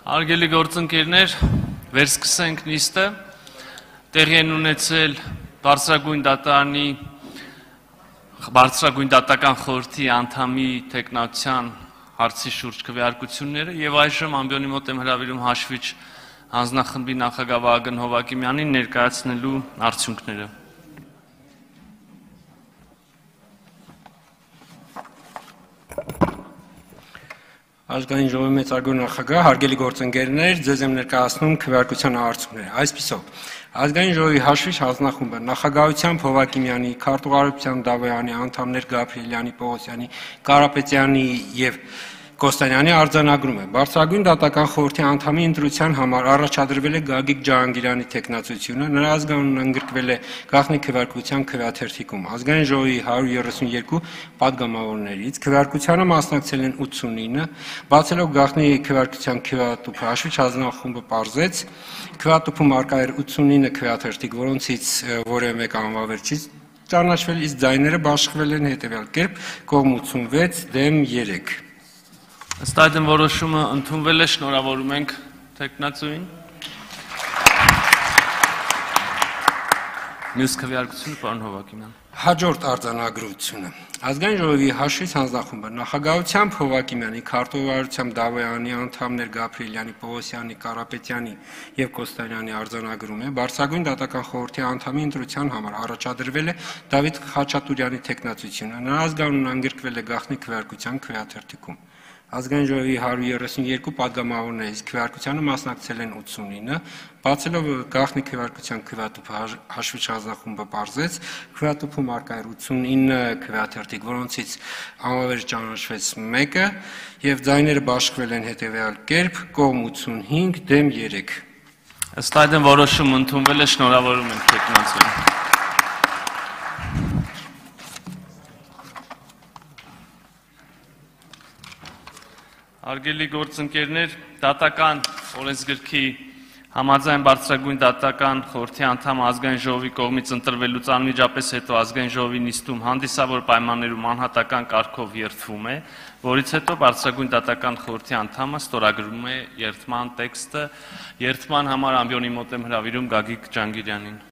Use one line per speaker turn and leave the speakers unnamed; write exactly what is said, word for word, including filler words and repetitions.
Արգելի գործընկերներ, վերսկսենք նիստը, տեղի են ունեցել բարձրագույն դատարանի բարձրագույն դատական խորհրդի անդամի տեխնացիան հարցի շուրջ քվեարկությունները եւ այժմ ամբիոնի մոտ եմ հրավիրում հաշվիչ հանձնախմբի նախագահ Վահագն Հովակիմյանին ներկայացնելու արդյունքները։
Ազգային ժողովի մեծարգո նախագահ, հարգելի գործընկերներ, ձեզ եմ ներկայացնում քվեարկության արդյունքները։ Այսպիսով, Ազգային ժողովի հաշվիչ հանձնախումբը նախագահությամբ Հովակիմյանի, քարտուղարության Դավոյանի, անդամներ Գաբրիելյանի, Պողոսյանի, Կարապետյանի եւ Կոստանյանի արձանագրում է։ Բարձրագույն դատական խորհրդի անդամի ընտրության համար առաջադրվել է Գագիկ Ջահանգիրյանի տեխնացությունը, նրա ազգանունն ընդգրկվել է գաղտնի քվեարկության քվեաթերթիկում։ Ազգային ժողովի հարյուր երեսունյոթ պատգամավորներից քվեարկությանը մասնակցել են ութսունինը, բացելով գաղտնի քվեարկության քվեատուփը հաշվիչ հանձնախումբը պարզեց, քվեատուփում արկա էր ութսունինը քվեաթերթիկ, որոնցից որևէ մեկ անվավեր չի ճանաչվել, իսկ ձայները բաշխվել են հետևյալ կերպ՝ կողմ ութսունվեց, դեմ երեք։
Ըստ այդմ որոշումը ընդունվել է, շնորհավորում ենք տեխնացուին։ Մյուս քվեարկությունը պարոն Հովակիմյան։
Հաջորդ արձանագրությունը։ Ազգային ժողովի հաշվիչ հանձնախումբը նախագահությամբ Հովակիմյանի, քարտուղարությամբ Դավոյանի, անդամներ Գաբրիելյանի, Պողոսյանի, Կարապետյանի եւ Կոստանյանի արձանագրում է բարձրագույն դատական խորհրդի անդամի ընտրության համար առաջադրվել է Դավիթ Խաչատուրյանի տեխնացությունը, նրա ազգանունն ընդգրկվել է գաղտնի քվեարկության քվեաթերթիկում։ Ազգային ժողովի հարյուր երեսունյոթ պատգամավորներից քվեարկությանը մասնակցել են ութսունինը, բացելով գաղտնի քվեարկության քվեատուփը հաշվիչ հանձնախումբը պարզեց, քվեատուփում արկա էր ութսունինը քվեաթերթիկ, որոնցից անվավեր ճանաչվեց մեկը եւ ձայները բաշխվել են հետեւյալ կերպ՝ կողմ ութսունհինգ, դեմ երեք։
Ըստ այդմ որոշումը ընդունվել է, շնորհավորում ենք տեխնացուին։ Արգելի գործընկերներ, դատական օրենսգրքի համաձայն բարձրագույն դատական խորհրդի անդամ ազգային ժողովի կողմից ընտրվելուց անմիջապես հետո ազգային ժողովի նիստում հանդիսավոր պայմաններում անհատական կարգով երթվում է, որից հետո բարձրագույն դատական խորհրդի անդամը ստորագրում է երթման տեքստը, երթման համար ամբիոնի մոտ եմ հրավիրում Գագիկ Ջահանգիրյանին։